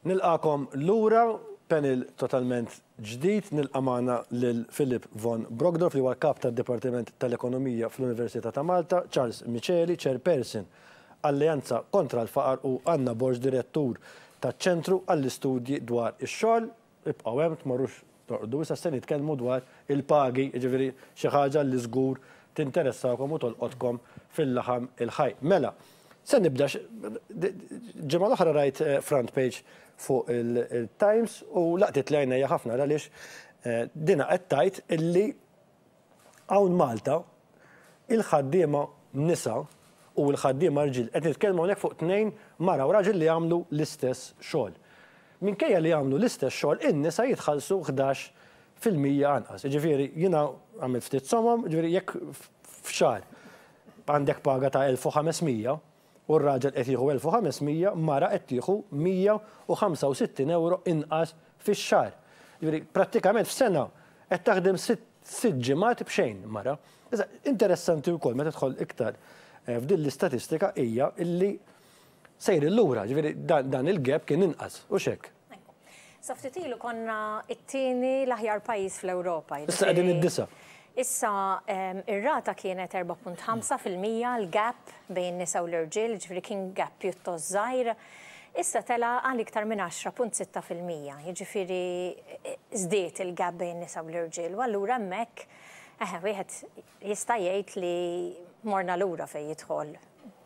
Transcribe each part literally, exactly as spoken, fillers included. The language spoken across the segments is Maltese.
Nilqagħkom lura, panel totalment ġdid, nilqa' magħna lil Philip von Brockdorff, li huwa kap tad-Dipartiment tal-Ekonomija fl-Università ta' Malta, Charles Miceli, Chairperson Alleanza kontra l-Faqar, u Anna Borg, Direttur taċ-Ċentru għall-Istudji dwar ix-Xogħol. Ibqgħu hemm, tmorrux torqdu, issa se nitkellmu dwar il-pagi, jiġifieri xi ħaġa li żgur tinteressakom u tolqotkom fil-laħam il-ħaj. Mela, se nibda, ġimgħa l-oħra rajt eh, front page fuq il-Times u laqtitli għajnejja ħafna għaliex eh, dina qed tgħid illi hawn Malta il-ħaddiema nisa u l-ħaddiema rġiel, qed nitkellmu hawnhekk fuq tnejn, mara u raġel li jagħmlu l-istess xogħol. Minkejja li jagħmlu l-istess xogħol, in-nisa jitħallsu ħdax fil-mija anqas. Jiġifieri jiena għamilt ftit somom, jiġifieri jekk f'xahar għandek paga ta' elf u ħames mija u r-raġel qed jieħu elf u ħames mija, mara qed tieħu mija u ħamsa u sittin euro inqas fix-xahar. Jiġifieri prattikament f'sena qed taħdem sitt ġimgħat b'xejn mara. Issa, interessanti wkoll meta tidħol iktar eh, f'din l-istatistika hija illi sejrin lura, ġifieri dan il-gap kien inqas, u hekk. Sa ftit ilu konna it-tieni l-aħjar pajjiż fl-Ewropa. Issa qegħdin id-disa'. Issa ir-rata kienet erbgħa punt ħamsa fil-mija l-gap bejn nisa u l-irġiel, ġifieri kien gap pjuttost żgħir. Issa tela għal iktar minn għaxra punt sitta fil-mija, jiġifieri żdied il-gap bejn nisa u l-irġiel. U allura hemmhekk eħe wieħed jista' jgħid li morna lura fejn jidħol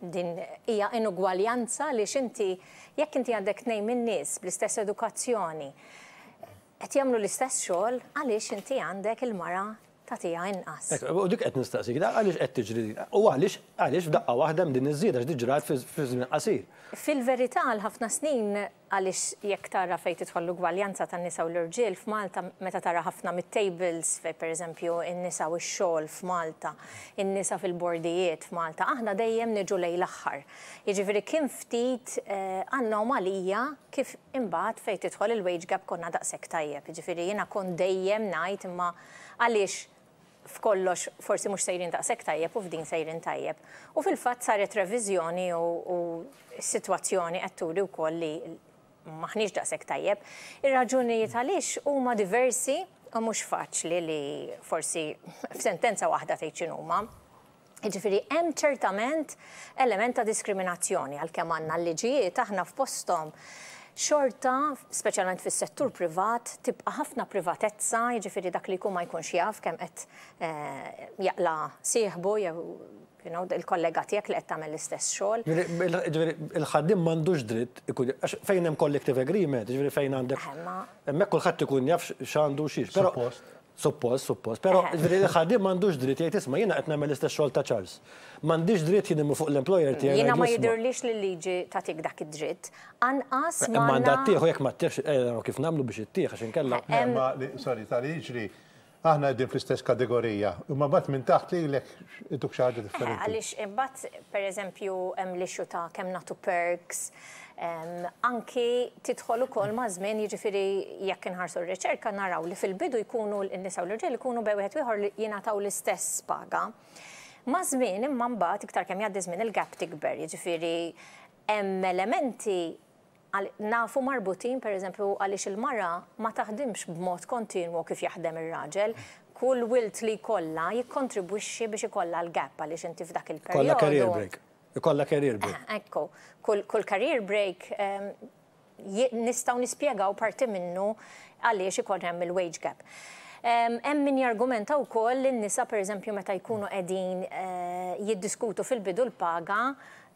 din hija inugwaljanza li x'inti jekk inti għandek tnejn minn nies bl-istess edukazzjoni qed jagħmlu l-istess xogħol, għaliex inti għandek il-mara tagħtiha inqas? U dik qed nistaqsik, għaliex qed tiġri u għaliex għaliex f'daqqa waħda din iż-żieda x'di ġrat fi żmien qasir? Fil-verità, għal ħafna snin, għaliex jekk tara fejn tidħol l-ugwaljanza tan-nisa u l-irġiel f'Malta, meta tara ħafna mit-tables fejn, pereżempju, in-nisa u x-xogħol f'Malta, in-nisa fil-bordijiet f'Malta, aħna dejjem niġu lejn l-aħħar. Jiġifieri kien ftit eh, anomalija kif imbagħad fejn tidħol il-wage gap konna daqshekk tajjeb. Jiġifieri jiena kont dejjem ngħid, imma għaliex f'kollox forsi mhux sejrin daqshekk tajjeb u f'din sejrin tajjeb? U fil-fatt saret reviżjoni u s-sitwazzjoni qed turi wkoll li maħniex daqshekk tajjeb. Ir-raġunijiet għaliex huma diversi u mhux faċli li forsi f'sentenza waħda tgħid x'inhuma. Jiġifieri hemm ċertament element ta' diskriminazzjoni, għalkemm għandna l-liġijiet aħna f'posthom, xorta, speċjalment fis-settur privat, tibqa' ħafna privatezza, jiġifieri dak li jkun ma jkunx jaf kemm qed eh, jaqla sieħbu jew you know, il-kollega tiegħek li qed tagħmel l-istess xogħol. Ġifieri il-ħaddiem m'għandux dritt ikun, għax fejn hemm collective agreement, ġifieri fejn għandek hemmhekk kulħadd ikun jaf x'għandu xiex. Però Suppost, suppost. Però ġifieri il-ħaddiem m'għandux dritt jgħid, "Isma', jiena qed nagħmel l-istess xogħol ta' Charles. M'għandix dritt jien fuq l-employer tiegħi?" Jiena ma jidhirlix li l-liġi tagħtik dak id-dritt. Anqas ma. Mandat tieħu jekk ma ttieħx, eh, kif nagħmlu biex ittieħ, għax inkella. Ma sorry, tal-liġi aħna qegħdin fl-istess kategorija. Imma mbagħad minn taħt lilek ituk xi ħaġa differenti. Għaliex imbagħad, pereżempju, hemm l-issue ta' kemm nagħtu perks, anki tidħol ukoll ma' żmien, jiġifieri jekk inħarsu r-riċerka naraw li fil-bidu jkunu n-nisa u l-irġiel ikunu bejn wieħed ieħor li jingħataw l-istess paga. Ma' żmien imma mbagħad iktar kemm jgħaddi żmien il-gap tikber, jiġifieri hemm elementi nafu marbutin, per eżempju, għaliex il-mara ma taħdimx b'mod kontinwu kif jaħdem ir-raġel, kull wild li jkollha jikkontribwixxi biex ikollha l-gap, għaliex inti f'dak il-perjodu. Ikollha career break. Ikollha career break. Ekku, kull, kull career break um, nistgħu nispjegaw parti minnu għaliex ikun hemm il-wage gap. Hemm min jargumenta wkoll li n-nisa, pereżempju, meta jkunu qegħdin eh, jiddiskutu fil-bidu l-paga,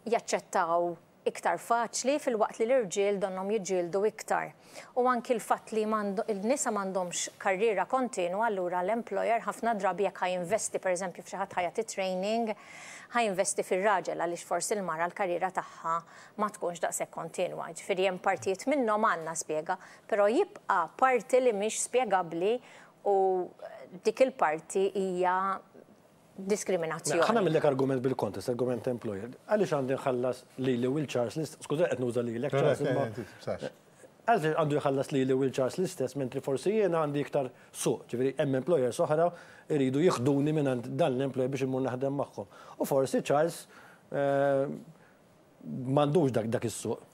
jaċċettaw iktar faċli, filwaqt li l-irġiel donhom jiġġieldu iktar. U anki l-fatt li il-nisa m'għandhomx karriera kontinua, allura l-employer ħafna drabi jekk ħa jinvesti, pereżempju, f'xi ħadd ħa jagħti training, ħa jinvesti fir-raġel għaliex forsi l-mara l-karriera tagħha ma tkunx daqshekk kontinwa. Ġifieri hemm partijiet minnhom għandna spjega, però jibqa' parti li mhix spjegabbli u dik il-parti hija diskriminazzjoni. Ħa nagħmillek argument bil-kontest, argument employer. Għaliex għandi nħallas li li Will Charles, skuża, qed nuża li Charles, għaliex għandu jħallas li li Will Charles l-istess, mentri forsi jiena għandi iktar suq, ġifieri hemm employers oħra iridu jieħduni minn dan l-employer biex immur naħdem magħhom. U forsi Charles eh, m'għandux dak dak is-suq.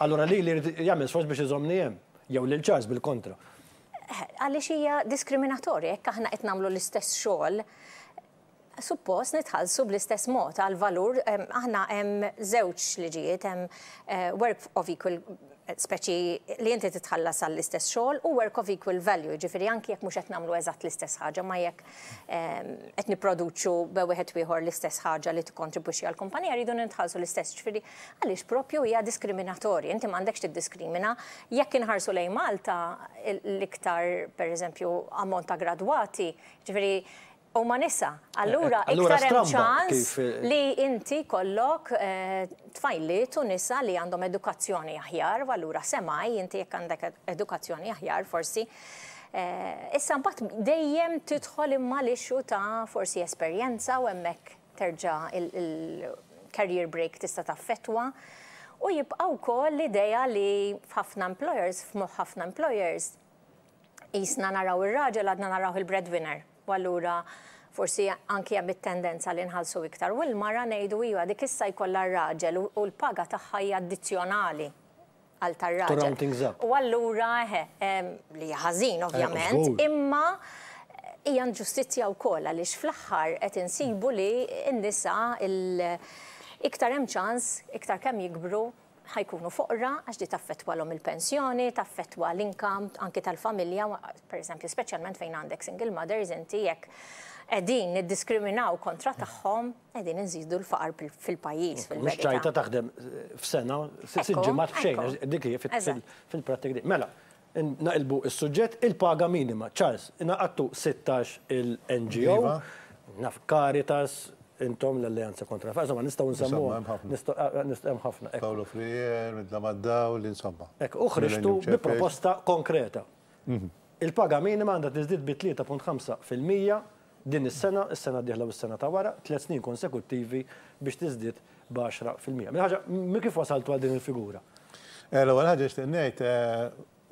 Allura li li jagħmel sforz biex iżommni hemm, jew lil Charles bil-kontra. Għaliex hija diskriminatorja, jekk aħna qed nagħmlu l-istess xogħol, suppost nitħallsu bl-istess mod għal valur. Aħna hemm żewġ liġijiet, hemm eh, work of equal, speċi li inti titħallas għall-istess xogħol, u work of equal value, ġifieri anki jekk mhux qed nagħmlu eżatt l-istess ħaġa, ma jekk qed nipproduċu bejn wieħed ieħor l-istess ħaġa li tikkontribwixxi għall-kumpanija, rridu nitħallsu l-istess. Ġifieri għaliex propju hija diskriminatorja, inti m'għandekx tiddiskrimina. Jekk inħarsu lejn Malta, l-iktar, pereżempju, ammont ta' gradwati, ġifieri huma nisa. Allura iktar hemm ċans li inti kollok tfajliet u nisa li għandhom edukazzjoni aħjar, u allura semaj inti jekk għandek edukazzjoni aħjar forsi. Issa mbagħad dejjem tidħol imma l-issue ta' forsi esperjenza, u hemmhekk terġa' il-career break tista' taffettwa. U jibqa' wkoll l-idea li f'ħafna employers, f'moħħ ħafna employers, jisna naraw ir-raġel, għadna naraw il-breadwinner. U allura forsi anki hemm it-tendenza li nħallsu iktar. U l-mara ngħidu iva, dik issa jkollha r-raġel u l-paga tagħha hija addizzjonali għal tar-raġel. U allura li ħażin ovvjament, imma hija inġustizzja wkoll għaliex fl-aħħar qed insibu li n-nisa iktar hemm ċans, iktar kemm jikbru ħa jkunu foqra, għax di taffettwalhom il-pensjoni, taffettwa l-income anki tal-familja, per eżempju, speċjalment fejn għandek single mothers, inti jekk qegħdin niddiskriminaw kontra tagħhom, qegħdin inżidu l-faqar fil-pajjiż. Mhux ċajta taħdem f'sena, sitt ġimgħat b'xejn, dik hi fil-prattika. Mela, naqilbu is-suġġett, il-paga minima. Charles, ingħaqadtu sittax il-N G O, naf Caritas, intom l-Alleanza kontra. Insomma, nistgħu nsemmu. Nistgħu ħafna. Paolo Frier, Midla Maddaw, insomma. Ek, u ħriġtu bi proposta konkreta. Il-paga minima għandha tiżdied bi tlieta punt ħamsa fil-mija din is-sena, is-sena d-dieħla u s-sena ta' wara, tliet snin konsekuttivi biex tiżdied b'għaxra fil-mija. Mela ħaġa, kif wasaltu għal din il-figura? L-ewwel ħaġa nixtieq ngħid,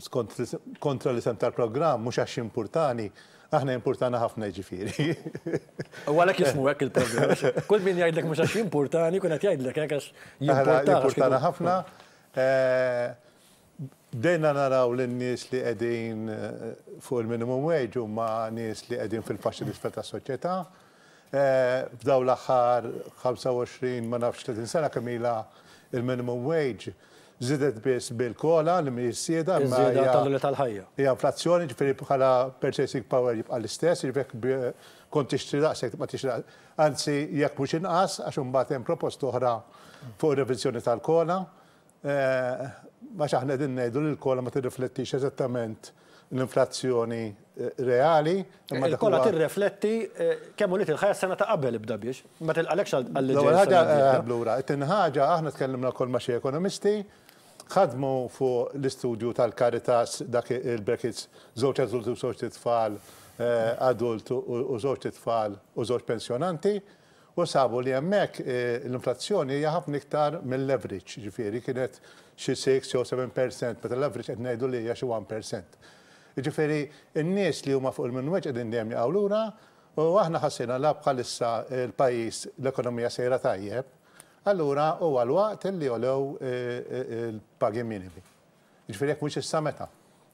skont kontra l-isem tal-programm, mhux għax importani, aħna importana ħafna, ġifieri. U għalhekk jismu hekk il-programm. Kull min jgħidlek mhux għax importani, kun qed jgħidlek hekk għax jimportana ħafna. Bdejna naraw l-nies li qegħdin fuq il-minimum wage huma nies li qegħdin fil-faxxi l-isfel tas-soċjetà. F'daw l-aħħar ħamsa u għoxrin, ma nafx, tletin sena kemm ilha il-minimum wage żiedet biss bil-COLA li mhijiex żieda. Iż-żieda tal-ħajja. Hija inflazzjoni, ġifieri bħala purchasing power jibqa' l-istess, ġifieri kont tixtri daqshekk tibqa' tixtri, anzi jekk mhux inqas, għax imbagħad hemm proposta oħra fuq reviżjoni tal-COLA. Għax aħna qegħdin ngħidu li l-COLA ma tirriflettix eżattament l-inflazzjoni reali. Il-COLA tirrifletti kemm għoliet il-ħajja sena ta' qabel ibda biex, ma tilqalekx għal L-ewwel ħaġa blura, it-tieni ħaġa, aħna tkellimna wkoll ma' xi ekonomisti, ħadmu fuq l-istudju tal-Caritas, dak il-brackets, żewġ adulti u żewġ tfal, adult u żewġ tfal u żewġ pensjonanti, u sabu li hemmhekk l-inflazzjoni hija ħafna iktar mill-average, ġifieri kienet xi sitta jew seba' fil-mija, meta l-average qed ngħidu li hija xi wieħed fil-mija. Ġifieri n-nies li huma fuq il-minimum wage qegħdin dejjem jaqgħu lura, u aħna ħassejna la bħalissa l-pajjiż, l-ekonomija sejra tajjeb, allura huwa l-waqt li jogħlew il-pagi minimi. Ġifieri jekk mhux issa, meta?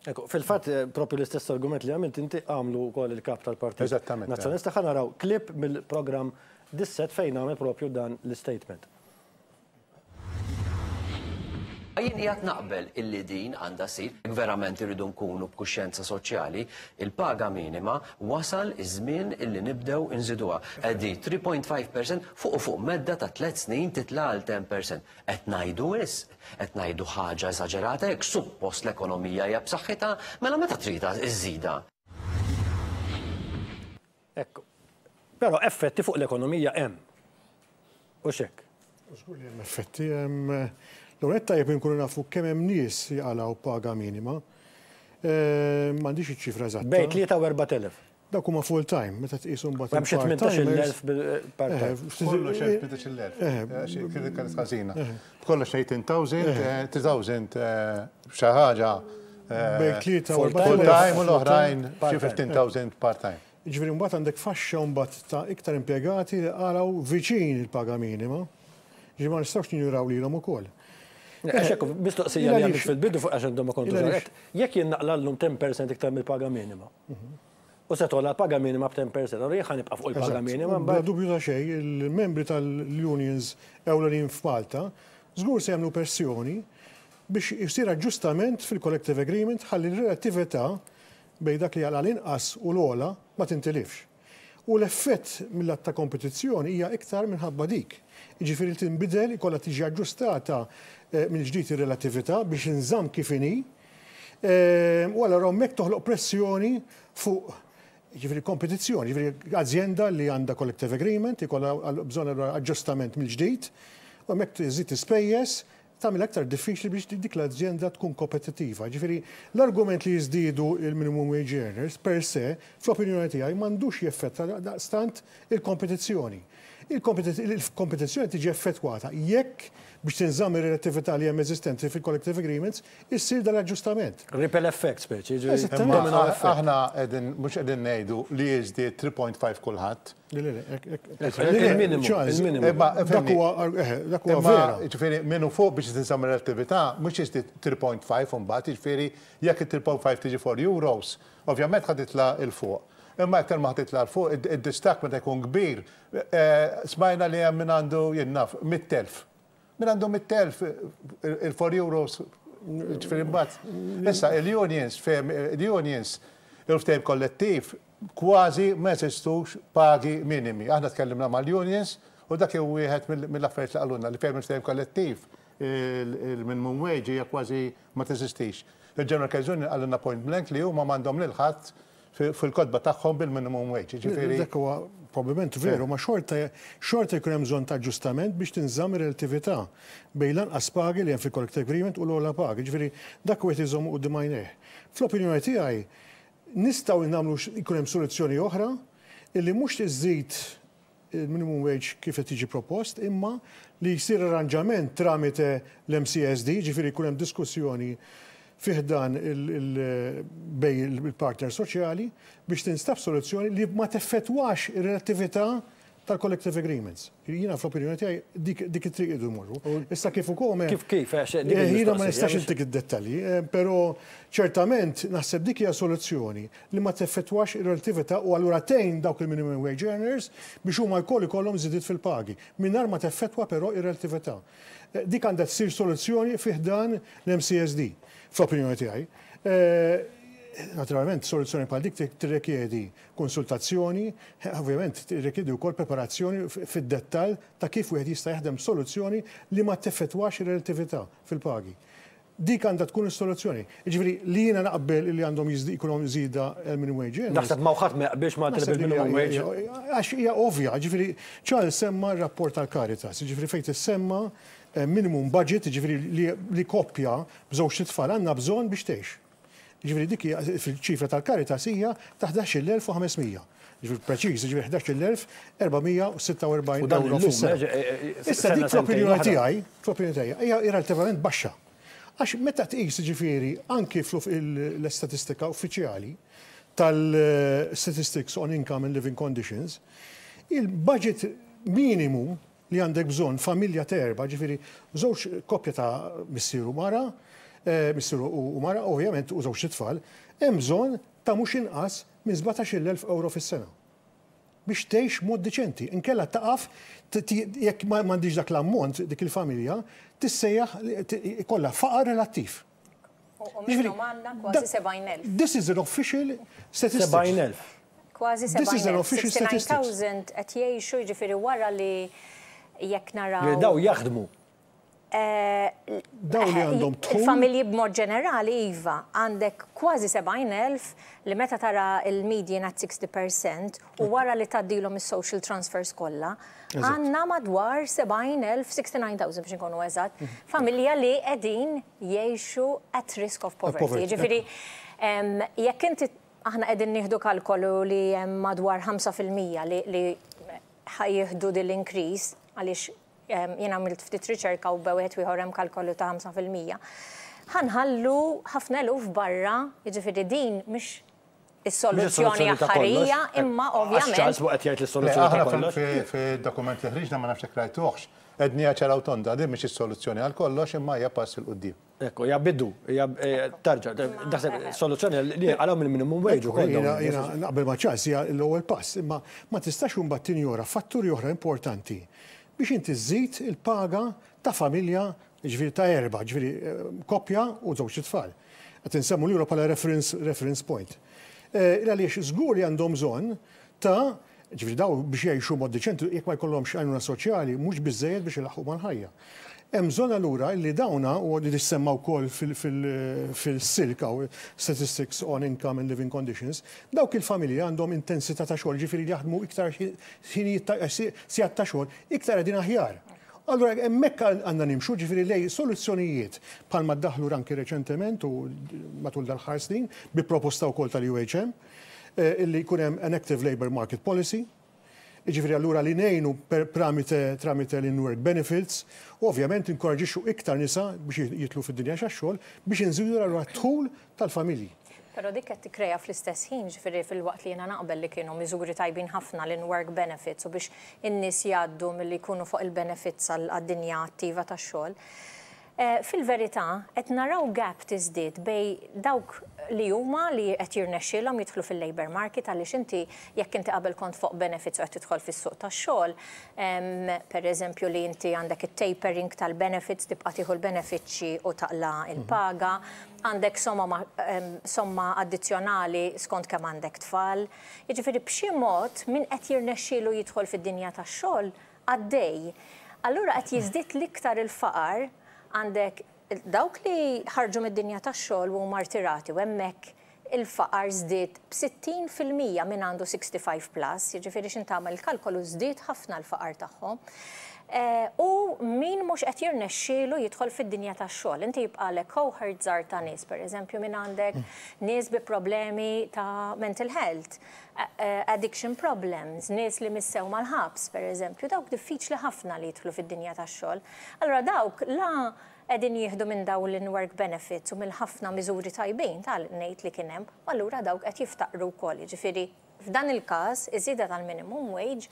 Ekku, fil-fatt propju l-istess argument li għamilt inti għamlu wkoll il-kap tal-Partit Eżattament. Nazzjonalista. Ħa naraw klip mill-programm Dissett fejn għamel propju dan l-statement. Jien qiegħed naqbel illi din għandha ssir, verament irridu nkunu b'kuxjenza soċjali, il-paga minima wasal iż-żmien illi nibdew inżiduha. Qegħdi tlieta punt ħamsa fil-mija fuq u fuq medda ta' tliet snin titla' għal għaxra fil-mija. Qed ngħidu wisq, qed ngħidu ħaġa eżaġerata jekk suppost l-ekonomija hija b'saħħitha, mela meta tridha iżżida. Ekku. Però effetti fuq l-ekonomija hemm. U xek. Żgur li hemm effetti, hemm. L-ewwel tajjeb inkunu nafu kemm hemm nies jaqalgħu paga minima. M'għandix iċ-ċifra eżatta. Bejn tlieta u erbat elef. Dak huma full time, meta tqisu mbagħad. Hemm xi tmintax-il elf part-time. Kollox tmintax-il elf. Kienet kienet ħażina. Kollox tmentin elf, tliet elef xi ħaġa. Bejn tlieta u full time u l-oħrajn xi ħmistax-il elf part-time. Ġifieri mbagħad għandek faxxa mbagħad ta' iktar impjegati li qalgħu viċin il-paga minima. Ġifieri ma nistgħux ninjuraw lilhom ukoll. Għax mistoqsija li għamilt fil-bidu fuq għax għandhom ma kontu ġarret, jekk jien naqla' llum ten percent iktar mill-paga minima. U se togħla l-paga minima b'ten percent, allura jien ħa nibqa' fuq il-paga minima. Bla dubju ta' xejn, il-membri tal-unions ewlenin f'Malta żgur se jagħmlu pressjoni biex jsir aġġustament fil-collective agreement ħalli l-relattività bejn dak li għal l-inqas u l-ogħla ma tintilifx. U l-effett mill-att ta' kompetizzjoni hija iktar minħabba dik. Jiġifieri tinbidel, ikollha tiġi aġġustata eh, mill-ġdid ir-relattività biex inżamm kif inhi. Eh, U allura hemmhekk toħloq pressjoni fuq, ġifieri, kompetizzjoni, ġifieri azienda li għandha collective agreement, ikollha bżonn allura aġġustament mill-ġdid, u hemmhekk tiżid ispejjeż, tagħmel aktar diffiċli biex dik l-azienda tkun kompetittiva. Ġifieri l-argument li jiżdiedu il-minimum wage earners per se, fl-opinjoni tiegħi, m'għandux jeffetta daqstant il-kompetizzjoni. Il-kompetizzjoni tiġi effettwata jekk biex tinżamm ir-relattività li hemm eżistenti fil-collective agreements issir dal-aġġustament. Ripple effect speċi, ġifieri Eżattament. domino effect. Aħna qegħdin mhux qegħdin ngħidu li jiżdied tlieta punt ħamsa kulħadd. Le, le, le, ek- ek- Il-minimu, Charles, il-minimu. Imma, Dak fehmni, huwa eh, dak huwa Imma, vera. ġifieri, minnu fuq biex tinżamm relattività, mhux jiżdied tlieta punt ħamsa mbagħad, ġifieri, jekk il-tlieta punt ħamsa tiġi erba' euros, ovvjament ħa titla' 'l fuq. Imma iktar ma ħa titla' 'l fuq, id-distakk meta jkun kbir, eh, smajna li hemm min għandu, jien naf, mitt elf. Min għandu mitt elf, il-erba' euros, ġifieri mbagħad. Issa, il-unions, fem, il-unions, il-ftehim kollettiv, kważi ma jeżistux pagi minimi. Aħna tkellimna mal-unions u dak hu wieħed mill-affarijiet li qalulna, li fejn il-ftehim kollettiv il-minimum wage hija kważi ma teżistix. Il-General Workers Union qalulna point blank li huma m'għandhom lil ħadd fil-kotba tagħhom bil-minimum wage. Ġifieri Dak huwa probabbilment veru, ma xorta xorta jkun hemm bżonn ta' aġġustament biex tinżamm ir-relattività bejn l-anqas pagi li hemm fil-collective agreement u l-ogħla pagi. Ġifieri dak wieħed iżomm quddiem għajnejh. Fl-opinjoni tiegħi nistgħu nagħmlu jkun hemm soluzzjoni oħra illi mhux tiżid il-minimum wage kif qed tiġi propost, imma li jsir arranġament tramite l-M C S D, ġifieri jkun hemm diskussjoni fi ħdan bejn il-partner soċjali biex tinstab soluzzjoni li ma teffettwax ir-relattività tal-collective agreements. Jiena fl-opinjoni tiegħi dik dik it-triq idu morru. Issa kif ukoll Kif kif, għax dik Eh, Jiena ma il-mistoqsija, nistax biex- intik id-dettalji, eh, però ċertament naħseb dik hija soluzzjoni li ma teffettwax ir-relattività u allura tgħin dawk il-minimum wage earners biex huma jkoll ikollhom żidiet fil-pagi, mingħajr ma teffettwa però ir-relattività. Eh, Dik għandha tsir soluzzjoni fi ħdan l-M C S D, fl-opinjoni tiegħi. Eh, Naturalment, soluzzjoni bħal dik tirrikjedi konsultazzjoni, eh, ovvjament tirrikjedi wkoll preparazzjoni f- fid-dettall ta' kif wieħed jista' jaħdem soluzzjoni li ma teffettwax ir-relattività fil-pagi. Dik għandha tkun is-soluzzjoni. Jiġifieri li jiena naqbel li għandhom jiżdi- jkollhom żieda il-minimum wage earners. Naħseb ma ħadd ma jaqbilx ma Naħseb li bil-minimum wage. Għax hija ovvja, ġifieri Charles semma r-rapport tal-Caritas, ġifieri fejn tissemma eh, minimum budget, ġifieri li, li koppja b'żewġ tfal għandna bżonn biex tgħix. Ġifieri dik hija fil-ċifra tal-Caritas hija ta' ħdax-il elf u ħames mija. Ġifieri preċiż, ġifieri ħdax-il elf erba' mija u sitta u erbgħin U dan euro illum, fis-sena. eh, eh, Issa sena, dik sentejn fl-opinjoni oħra. tiegħi, fl-opinjoni tiegħi hija relattivament baxxa. Għax meta tqis, ġifieri, anki fl-istatistika uffiċjali tal-Statistics on Income and Living Conditions, il-budget minimu li għandek bżonn familja t'erba', ġifieri żewġ koppja ta' missier u mara, eh, missier u mara, ovvjament, u żewġ tfal, hemm bżonn ta' mhux inqas minn sbatax-il elf euro fis-sena biex tgħix mod deċenti. Inkella taqaf jekk m'għandix dak l-ammont dik il-familja tissejjaħ ikollha faqar relattiv. U minnhom għandna kważi sebgħin elf. This is an official statistics. sebgħin elf. Kważi This is an sebgħin elf. official statistics. sixty-nine thousand qed jgħixu, jiġifieri wara li jekk naraw. Daw jaħdmu. Eh, Daw li għandhom dħul. Il-familji b'mod ġenerali, iva, għandek kważi sebgħin elf li meta tara il-median at sixty percent u wara li tgħaddilhom is-social transfers kollha, għandna madwar sebgħin elf, sixty-nine thousand biex nkunu eżatt, familja li qegħdin jgħixu at risk of poverty. Poverty. Ġifieri, em, jekk inti aħna qegħdin nieħdu kalkolu li hemm madwar ħamsa fil-mija li, li ħa jieħdu dil-increase, għaliex em, jien għamilt ftit riċerka u bejn wieħed u ieħor hemm kalkolu ta' ħamsa fil-mija. Ħa nħallu ħafna eluf barra, jiġifieri din mhix is-soluzzjoni ta' kollox. aħħarija, imma Għax ovvjament. Charles qed jgħid Le, l-soluzzjoni ta' aħna kollox. fil-dokument li ħriġna, ma nafx jekk rajtuhx, Għednieha ċara u tonda, din mhix is-soluzzjoni għal kollox, imma hija pass 'il quddiem. Ekku, hija bidu, hija tarġa, daħseb soluzzjoni li għalhom il-minimum wage ukoll. Jiena naqbel ma' Charles, hija l-ewwel pass, imma ma tistax imbagħad tinjora fatturi oħra importanti biex inti żżid il-paga ta' familja, ġifieri ta' erba', ġifieri koppja u żewġ tfal. Qed insemmu l bħala reference, reference point. Għaliex żgur li għandhom bżonn ta' ġifieri daw biex jgħixu mod diċenti, jekk ma jkollhomx għajnuna soċjali, mhux biżejjed biex ilaħħqu mal-ħajja. Hemm bżonn allura li dawna, u li tissemma wkoll fil-SILC, Statistics on Income and Living Conditions, dawk il-familji għandhom intensità ta' xogħol, ġifieri li jaħdmu iktar sigħat ta' xogħol, iktar qegħdin aħjar. Allura hemmhekk għandna nimxu, ġifieri lej soluzzjonijiet bħalma ddaħlu anki reċentement u matul dal-aħħar snin bi proposta wkoll tal-U H M illi jkun hemm an active labour market policy. Ġifieri allura li ngħinu tramite tramite l-in-work benefits, u ovvjament inkoraġixxu iktar nisa biex jidħlu fid-dinja tax-xogħol biex inżidu allura d-dħul tal-familji. Però dik qed tikkrea fl-istess ħin, ġifieri fil-waqt li jiena naqbel li kienu miżuri tajbin ħafna l-in-work benefits u biex in-nies jgħaddu milli jkunu fuq il-benefits għad-dinja attiva tax-xogħol. Fil-verità, qed naraw gap tiżdied bejn dawk li huma li qed jirnexxielhom jidħlu fil-labor market, għaliex inti jekk inti qabel kont fuq benefits u qed tidħol fis-suq tax-xogħol, per eżempju li inti għandek it-tapering tal-benefits, tibqa' tieħu l-benefiċċji u taqla il-paga, għandek somma, somma addizzjonali skont kemm għandek tfal. Jiġifieri b'xi mod min qed jirnexxielu jidħol fid-dinja tax-xogħol għaddej. Allura qed jiżdied l-iktar il-faqar, għandek dawk li ħarġu mid-dinja tax-xogħol u huma rtirati u hemmhekk il-faqar żdied b'sittin fil-mija minn għandu sixty-five plus, jiġifieri x'ħin tagħmel il-kalkolu żdied ħafna l-faqar tagħhom. U min mhux qed jirnexxielu jidħol fid-dinja tax-xogħol. Inti jibqalek cohort żgħar ta' nies, pereżempju min għandek nies bi problemi ta' mental health, addiction problems, nies li missew mal-ħabs, pereżempju, dawk diffiċli ħafna li jidħlu fid-dinja tax-xogħol. Allura dawk la qegħdin jieħdu minn dawn l-in-work benefits u mill-ħafna miżuri tajbin tal-ngħid li kien hemm, u allura dawk qed jiftaqru wkoll, jiġifieri f'dan il-każ, iż-żieda tal-minimum wage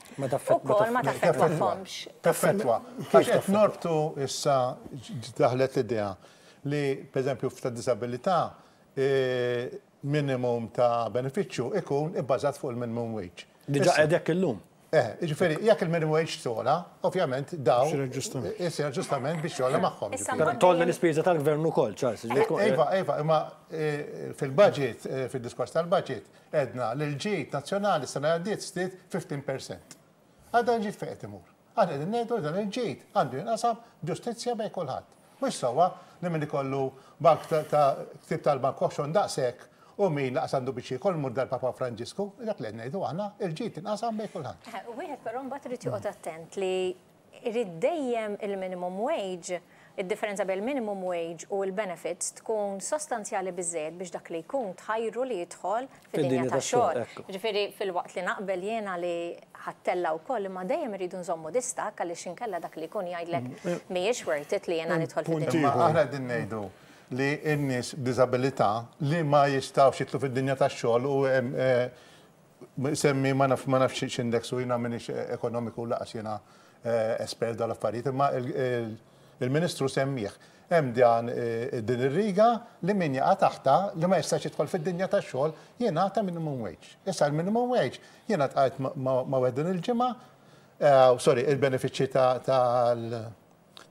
ukoll ma taffettwahomx. Taffettwa. Għax qed norbtu, issa daħlet l-idea li, pereżempju, ta' disabilità minimum ta' benefiċċju ikun ibbażat fuq il-minimum wage. Diġà qegħdek illum. Eh, ġifieri, jekk il-minimum wage togħla, ovvjament daw isir aġġustament biex jogħla magħhom. Togħla l-ispiża tal-gvern ukoll, Charles. Iva, iva, imma fil-budget, fil-diskors tal-budget, għedna li l-ġid nazzjonali sena għaddiet żdied ħmistax fil-mija. Għadda l-ġid fejn qed imur? Aħna qegħdin ngħidu dan il-ġid għandu jinqasam ġustizzja bejn kulħadd. Mhux sewwa li min ikollu bank ta' ktib tal-bank oħxon daqshekk u min lanqas għandu biex jiekol mur dal-Papa Franġisku, dak li ngħidu aħna, il-ġid inqasam bejn kulħadd. Wieħed però mbagħad irid joqgħod attent li irid dejjem il-minimum wage, id-differenza bejn il-minimum wage u l-benefits tkun sostanzjali biżejjed biex dak li jkun tħajru li jidħol fid-dinja tax-xogħol. Ġifieri fil-waqt li naqbel jiena li ħa ttella' wkoll, imma dejjem irridu nżommu distakk għaliex inkella dak li jkun jgħidlek mhijiex worth it li jiena nidħol fid-dinja. Aħna qegħdin ngħidu li n-nies b'diżabilità li ma jistgħux jidħlu fid-dinja tax-xogħol u semmi ma naf ma nafx x'index u jiena m'iniex ekonomiku, lanqas jiena espert dal-affarijiet, imma il-Ministru semmih. Hemm dan din ir-riga li min jaqa' taħta li ma jistax jidħol fid-dinja tax-xogħol jingħata minimum wage. Issa l-minimum wage jiena ltqajt ma' wieħed din il-ġimgħa, sorry, il-benefiċċji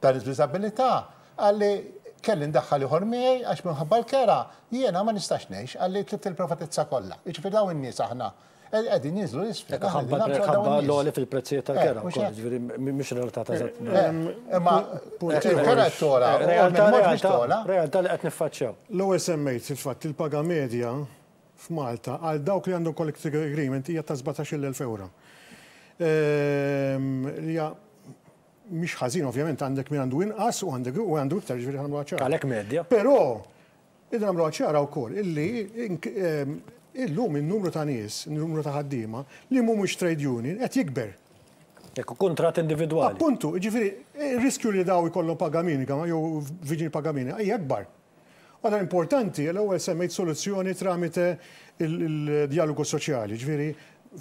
tal-disabilità, qalli kelli ndaħħal ieħor miegħi għax minħabba l-kera jiena ma nistax ngħix, qalli tlift il-privatezza kollha. Jiġifieri dawn in-nies aħna qegħdin jinżlu 'l isfel. Ħabba l-għoli fil-prezzijiet tal-kera, ġifieri mhix realtà ta' Imma il-kera togħla, realtà realtà li qed niffaċċjaw. L-ewwel semmejt il-fatt il-paga medja f'Malta għal dawk li għandhom collective agreement hija ta' sbatax-il elf euro. Li hija mhix ħażin, ovvjament għandek min għandu inqas u għandek u għandu iktar, ġifieri ħa nagħmluha ċara. Għalhekk medja. Però id nagħmluha ċara wkoll illi illum il-numru ta' nies, il-numru ta' ħaddiema li mhumiex trade union qed jikber. Ekku, kontrat individwali. Appuntu, ġifieri, il-riskju li daw ikollhom paga minima jew viġin paga minima hija akbar. Għada importanti, l-ewwel semmejt soluzzjoni tramite il-dialogu soċjali, ġifieri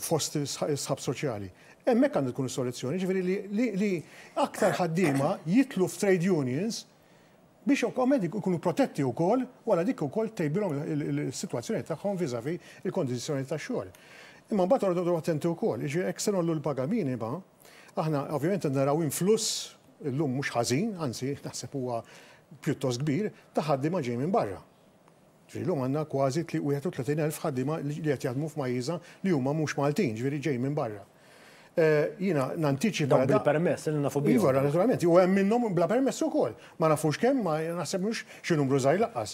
fost is-sħab soċjali. Hemmhekk għandu tkun is-soluzzjoni, ġifieri li aktar ħaddiema jitlu f'trade unions biex ovvjament ikunu protetti wkoll wara dik ukoll tejbilhom il-sitwazzjoni tagħhom vis-à-vis il-kondizzjoni tax-xogħol. Imma mbagħad ordu attenti wkoll, jiġifieri jekk se ngħollu l-paga minima, aħna ovvjament naraw influss illum mhux ħażin, anzi naħseb huwa pjuttost kbir, ta' ħaddiema ġej minn barra. Ġifieri llum għandna kważi wieħed u tletin elf ħaddiema li qed jaħdmu f'pajjiżna li huma mhux Maltin, ġifieri ġej minn barra. Jiena nantiċipa. Dawn bil-permess, li nafu bihom. Iva, naturalment, u hemm minnhom bla permess ukoll. Ma nafux kemm, ma naħseb mhux xi numru żgħir laqqas.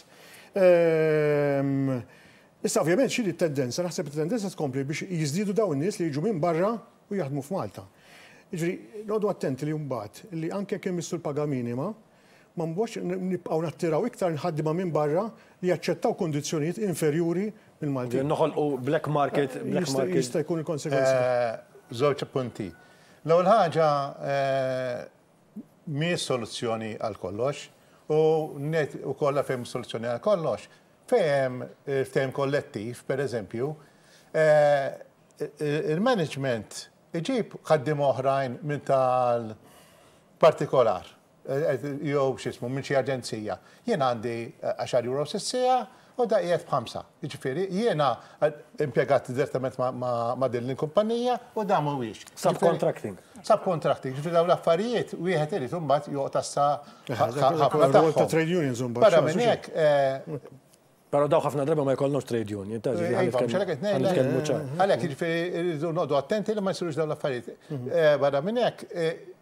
Issa ovvjament xi tendenza, naħseb it-tendenza tkompli biex jiżdiedu dawn in-nies li jiġu minn barra u jaħdmu f'Malta. Jiġifieri noqogħdu attenti li mbagħad li anke kemm missu l-paga minima, ma mbagħadx nibqgħu nattiraw iktar ħaddiema minn barra li jaċċettaw kondizzjonijiet inferjuri mill-Maltin. Noħolqu black market, black market. Jista' jkun il-konsekwenza. Żewġ punti. L-ewwel ħaġa mhijiex soluzzjoni għal kollox u net ukoll fejn soluzzjoni għal kollox. Fejn ftehim kollettiv, per eżempju, il-management iġib ħaddiema oħrajn minn tal-partikolar jew x'ismu minn xi aġenzija. Jien għandi għaxar euro s-siegħa u da qiegħed b'ħamsa. Jiġifieri jiena impjegat direttament ma' din il-kumpanija u da mhuwiex. Subcontracting. Subcontracting. Jiġifieri dawn l-affarijiet wieħed irid imbagħad joqgħod assa ħafna tagħhom. Trade unions imbagħad. Barra minn hekk. Però daw ħafna drabi ma jkollhomx trade union, ta' ġifieri nitkellmu ċar. Għalhekk jiġifieri rridu noqogħdu attenti li ma jsirux dawn l-affarijiet. Barra minn hekk,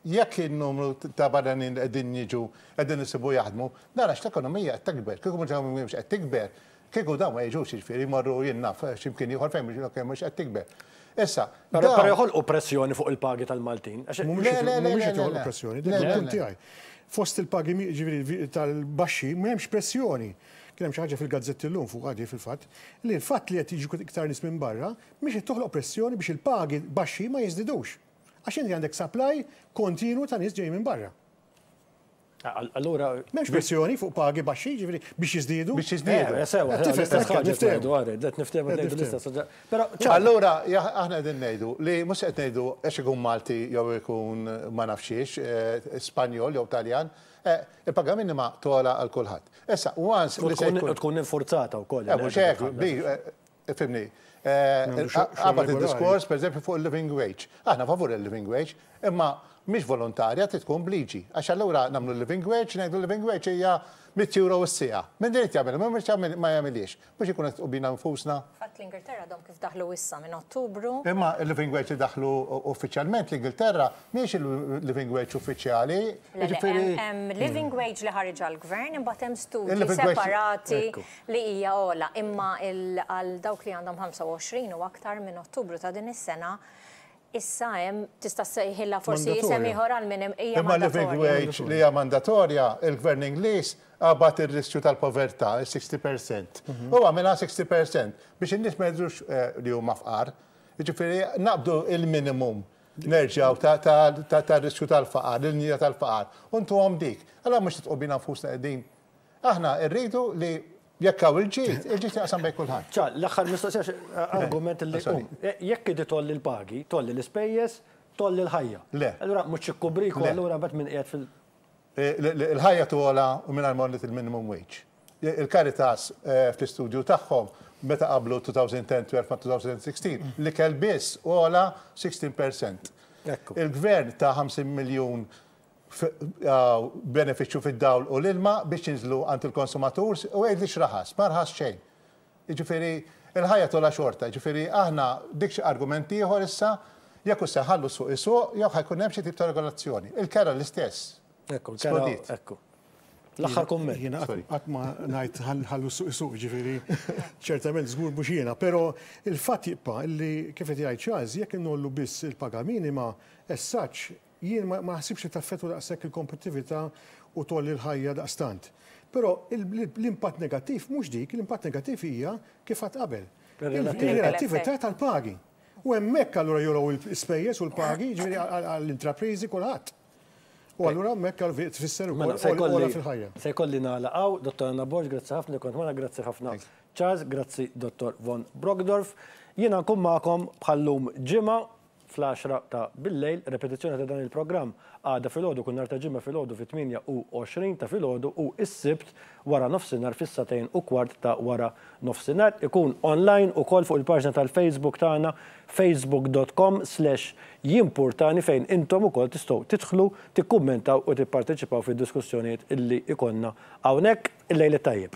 jekk in-numru ta' barranin li qegħdin jiġu qegħdin isibu jaħdmu, nara l-ekonomija qed tikber, kieku mhux qed tikber, kieku dawn ma jiġux jiġifieri jmorru jien naf x'imkien ieħor fejn mhux qed tikber. Issa, però joħolqu pressjoni fuq il-pagi tal-Maltin. Mhumiex qed joħolqu pressjoni, dik il-punt tiegħi. Fost il-pagi ġifieri tal-baxxi m'hemmx pressjoni. Kien hemm xi ħaġa fil-gazzetti llum fuq għadi fil-fatt li l-fatt li qed jiġu iktar nies minn barra mhix qed toħloq pressjoni biex il-pagi baxxi ma jiżdidux. Għax inti għandek supply kontinu ta' nies ġej minn barra. Allura m'hemmx pressjoni fuq pagi baxxi, ġifieri biex jiżdiedu. Biex jiżdiedu. Sewa, qed niftehmu ngħidu l-istess. Però allura aħna qegħdin ngħidu li mhux qed ngħidu għax ikun Malti jew ikun ma nafxiex, Spanjol jew Taljan, il-paga minima togħla għal kulħadd. Issa, once li se tkun infurzata wkoll. Mhux hekk, fimni. Qabad id-diskors, per eżempju, fuq il-living wage. Aħna favur il-living wage, imma mhix volontarja trid tkun bliġi. Għax allura nagħmlu living wage, ngħidu living wage hija mitt euro s-siegħa. Min irid jagħmel, min ma jagħmilhiex. Mhux ikun qed tqubina nfusna. Fatt l-Ingilterra għadhom kif daħlu issa minn Ottubru. Imma il-living wage li daħlu uffiċjalment l-Ingilterra mhijiex il-living wage uffiċjali. Hemm living wage li ħareġ għall-gvern, imbagħad hemm studji separati li hija ogħla. Imma għal dawk li għandhom ħamsa u għoxrin u aktar minn Ottubru ta' din is-sena issa hemm tista' ssejħilha forsi isem ieħor għal min hija Imma living wage li hija mandatorja, il-gvern Ingliż qabad ir-riskju tal-povertà, il-sixty percent. U għamilha sixty percent biex in-nies ma jidhrux li huma fqar. Jiġifieri naqbdu il-minimum nerġgħu tar-riskju tal-faqar, il-linja tal-faqar, u ntuhom dik. Allura mhux titqu bina nfusna qegħdin. Aħna rridu li jekk hawn il-ġid, il-ġid jaqsam bejn kulħadd. Ċa, l-aħħar mistoqsija argument li jekk idi tolli l-pagi, tolli l-ispejjeż, tolli l-ħajja. Le. Allura mhux ikkubriku, allura mbagħad min qiegħed fil- Il-ħajja togħla u mingħajr ma għolliet il-minimum wage. Il-Caritas fl-istudju tagħhom meta qablu two thousand ten twelve ma' two thousand sixteen li kell biss ogħla sixteen percent. Il-gvern ta' ħamsin miljun benefiċċju fid-dawl u l-ilma biex jinżlu għand il-konsumatur u għid li xraħas, ma rħas xejn. Jiġifieri il-ħajja tola xorta, jiġifieri aħna dik xi argument ieħor issa jekk hu se ħallu suq isuq jew ħajkun hemm xi tip ta' regolazzjoni. Il-kera l-istess. Ekku, il-kera, ekku. L-aħħar kumment. Jiena qatt ma ngħid ħallu suq isuq, jiġifieri ċertament żgur mhux jiena, però il-fatt jibqa' li kif qed jgħid Charles, jekk inollu biss il-paga minima, as such, jien ma naħsibx li taffettwa daqshekk il-kompetittività u tolli l-ħajja daqstant. Però l-impatt negattiv mhux dik, l-impatt negattiv hija kif għad qabel. Il-relattività tal-pagi. U hemmhekk allura jolgħu l-ispejjeż u l-pagi, jiġifieri għall-intrapriżi kulħadd. U allura hemmhekk tfisser ukoll ogħla fil-ħajja. Se jkolli nagħlaqgħu, Dottor Anna Borg, grazzi ħafna li kont magħna, grazzi ħafna Charles, grazzi Dottor Von Brockdorff. Jiena nkun magħkom bħallum ġimgħa fl-għaxra ta' billejl, repetizzjoni ta' dan il-programm għada filgħodu, kull nhar ta' Ġimgħa filgħodu fit-tmienja u għoxrin ta' filgħodu u s-Sibt wara nofsinhar fis-sagħtejn u kwart ta' wara nofsinhar. Ikun online ukoll fuq il-paġna tal-Facebook tagħna, facebook dot com slash jimpurtani, fejn intom ukoll tistgħu tidħlu, tikkummentaw u tipparteċipaw fid-diskussjonijiet illi ikollna hawnhekk. Il-lejl tajjeb.